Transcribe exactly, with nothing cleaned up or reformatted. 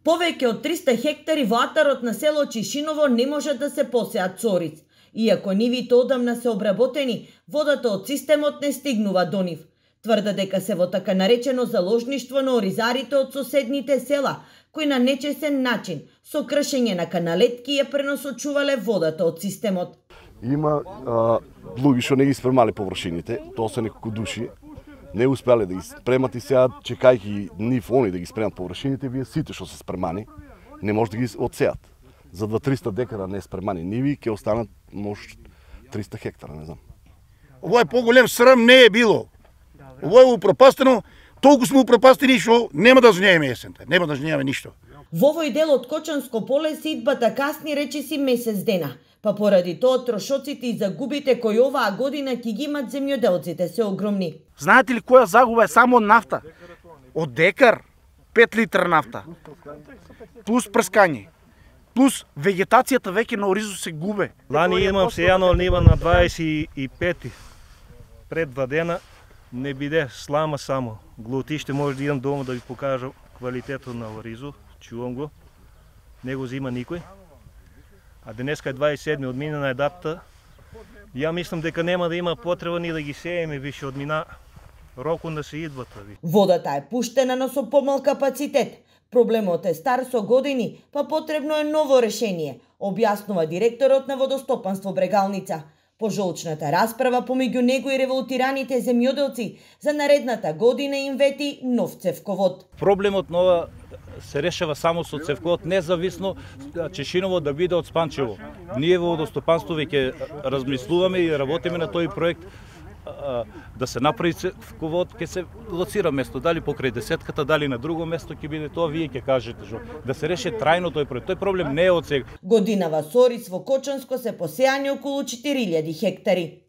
Повеќе од триста хектари во атарот на село Чишиново не може да се посеат цориц. Иако нивите одамна се обработени, водата од системот не стигнува до нив. Тврда дека се во така наречено заложништво на оризарите од соседните села, кои на нечесен начин, со кршење на каналетки ја пренасочувале водата од системот. Има а, луѓе што не ги спремале површините, тоа се неколку души, не успеале да ги спремат и сега, чекајќи нив они да ги спремат површините, вие сите што се спремани, не може да ги одсеат. За два до триста декара не спремани ниви, ќе останат може триста хектара, не знам. Ово е поголем срам не е било. Ово е упропастено, толку сме упропастени што нема да жнееме есента, нема да жнееме ништо. Во овој дел од Кочанско поле сидбата касни речиси месец дена, па поради тоа трошоците и загубите кои оваа година ќе ги имат земјоделците се огромни. Знаете ли која загуба е само од нафта? Од декар пет литра нафта. Плюс прскање. Плюс вегетацијата веќе на оризо се губе. Лани имам сејано нива на дваесет и пети. Пред два дена не биде слама само. Глутиште може да идам дома да ви покажам квалитетот на оризо. Чувам го. Не го зима никој. А денеска е дваесет и седми, одминена е датата. Ја мислам дека нема да има потреба ни да ги сееме више, одмина рокон да се идвата. Водата е пуштена, но со помал капацитет. Проблемот е стар со години, па потребно е ново решение, објаснува директорот на Водостопанство Брегалница. Пожолчната расправа помеѓу него и револтираните земјоделци за наредната година им вети нов цевковод. Проблемот нова се решава само со цевковод, независно Чешиново да биде од Спанчево. Ние во Водостопанство веќе размислуваме и работиме на тој проект да се направи цевковод, ќе се лоцира место, дали покрај десетката, дали на друго место ќе биде тоа, вие ќе кажете, жо, да се реши трајно тој проект. Тој проблем не е од сега. Годинава со ориз во Кочанско се посеани околу четири илјади хектари.